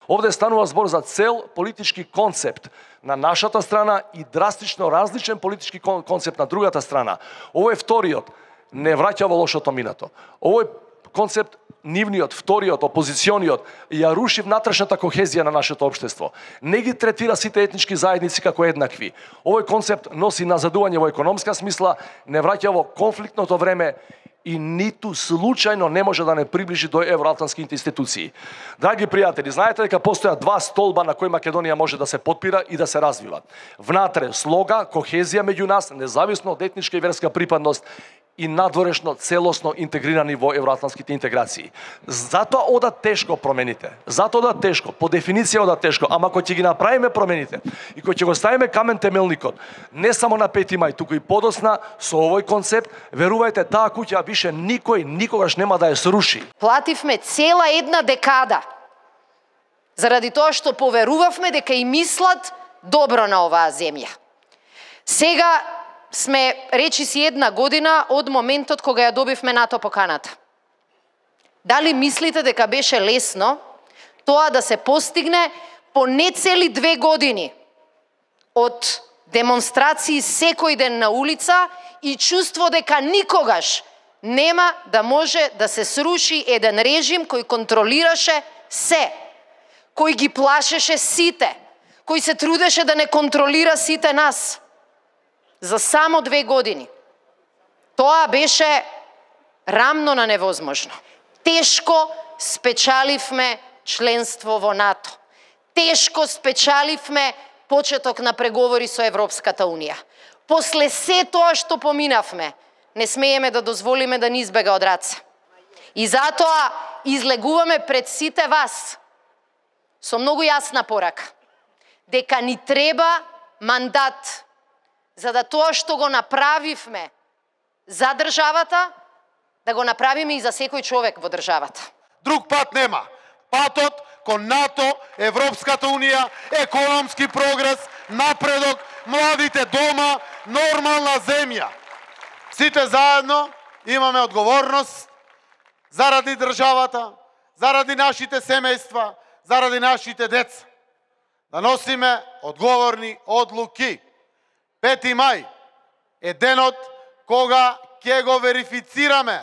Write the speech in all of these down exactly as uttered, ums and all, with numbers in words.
Овде станува збор за цел политички концепт на нашата страна и драстично различен политички концепт на другата страна. Овој вториот не враќа во лошото минато. Овој концепт, нивниот, вториот, опозициониот, ја руши внатрешната кохезија на нашето општество. Не ги третира сите етнички заедници како еднакви. Овој концепт носи назадување во економска смисла, не враќа во конфликтното време и ниту случајно не може да не приближи до евроатлантските институции. Драги пријатели, знаете дека постојат два столба на кои Македонија може да се потпира и да се развива. Внатре слога, кохезија меѓу нас, независно од етничка и верска припадност, и надворешно целосно интегрирани во евроатлантските интеграции. Затоа одат тешко промените. Затоа одат тешко, по дефиниција одат тешко, ама кој ќе ги направиме промените и кој ќе го ставиме камен темелникот, не само на пети мај, туку и подосна со овој концепт, верувајте, таа куќа више никој никогаш нема да ја сруши. Плативме цела една декада заради тоа што поверувавме дека и мислат добро на оваа земја. Сега сме речиси една година од моментот кога ја добивме НАТО поканата. Дали мислите дека беше лесно тоа да се постигне по не цели две години од демонстрации секој ден на улица и чувство дека никогаш нема да може да се сруши еден режим кој контролираше се, кој ги плашеше сите, кој се трудеше да не контролира сите нас. За само две години. Тоа беше рамно на невозможно. Тешко спечаливме членство во НАТО. Тешко спечаливме почеток на преговори со Европската Унија. После се тоа што поминавме, не смееме да дозволиме да ни избега од раце. И затоа излегуваме пред сите вас со многу јасна порака, дека ни треба мандат за да тоа што го направивме за државата, да го направиме и за секој човек во државата. Друг пат нема. Патот кон НАТО, Европската Унија, економски прогрес, напредок, младите дома, нормална земја. Сите заедно имаме одговорност заради државата, заради нашите семејства, заради нашите деца. Да носиме одговорни одлуки. пети мај е денот кога ќе го верифицираме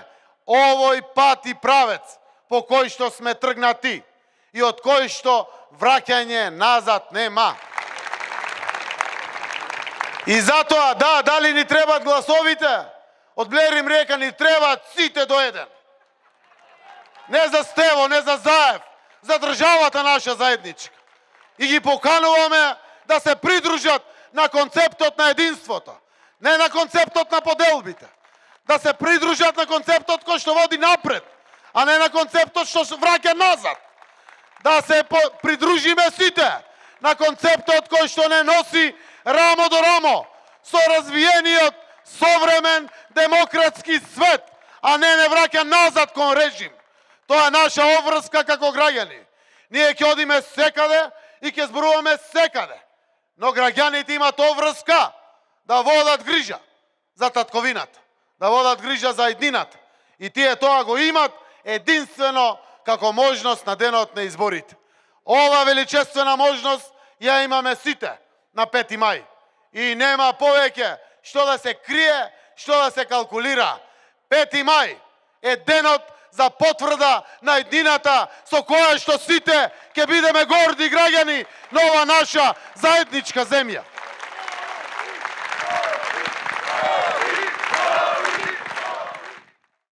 овој пат и правец по кој што сме тргнати и од кој што враќање назад нема. И затоа, да, дали ни требат гласовите? Од Блер им река, ни требат сите до еден. Не за Стево, не за Заев, за државата наша заедничка. И ги покануваме да се придружат на концептот на единството, не на концептот на поделбите. Да се придружат на концептот кој што води напред, а не на концептот што враќа назад. Да се придружиме сите на концептот кој што не носи рамо до рамо со развиениот современ демократски свет, а не не враќа назад кон режим. Тоа е наша обврска како граѓани. Ние ќе одиме секаде и ќе зборуваме секаде. Но граѓаните имат обврска да водат грижа за татковината, да водат грижа за еднината. И тие тоа го имат единствено како можност на денот на изборите. Ова величествена можност ја имаме сите на пети мај. И нема повеќе што да се крие, што да се калкулира. пети мај е денот за потврда на едината со која што сите ќе бидеме горди граѓани на ова наша заедничка земја.